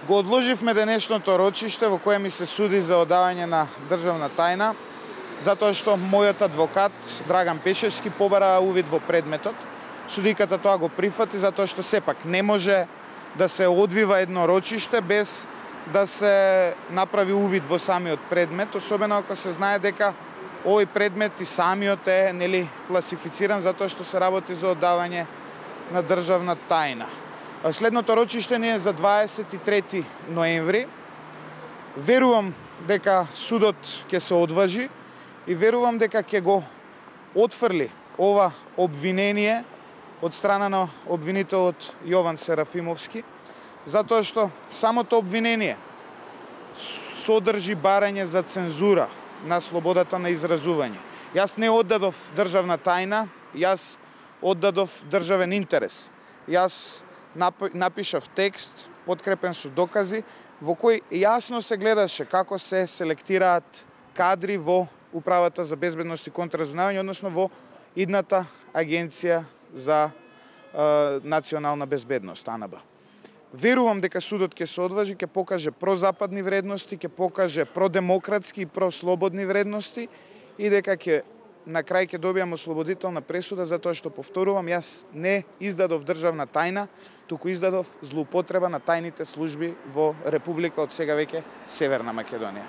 Го одложивме денешното рочиште во кое ми се суди за одавање на државна тајна, затоа што мојот адвокат Драган Пешевски побара увид во предметот. Судиката тоа го прифати затоа што сепак не може да се одвива едно рочиште без да се направи увид во самиот предмет, особено ако се знае дека овој предмет и самиот е класифициран затоа што се работи за оддавање на државна тајна. Следното рочиште ни е за 23 ноември. Верувам дека судот ќе се одважи и верувам дека ќе го отфрли ова обвинение од страна на обвинителот Јован Серафимовски, затоа што самото обвинение содржи барање за цензура на слободата на изразување. Јас не оддадов државна тајна, јас оддадов државен интерес. Јас напишав текст, подкрепен со докази, во кој јасно се гледаше како се селектираат кадри во Управата за безбедност и контраразузнавање, односно во идната Агенција за национална безбедност, АНБ. Верувам дека судот ќе се одважи, ќе покаже прозападни вредности, ќе покаже продемократски и прослободни вредности и дека на крај ќе добијаме ослободителна пресуда, затоа што, повторувам, јас не издадов државна тајна, туку издадов злоупотреба на тајните служби во Република од сега веќе Северна Македонија.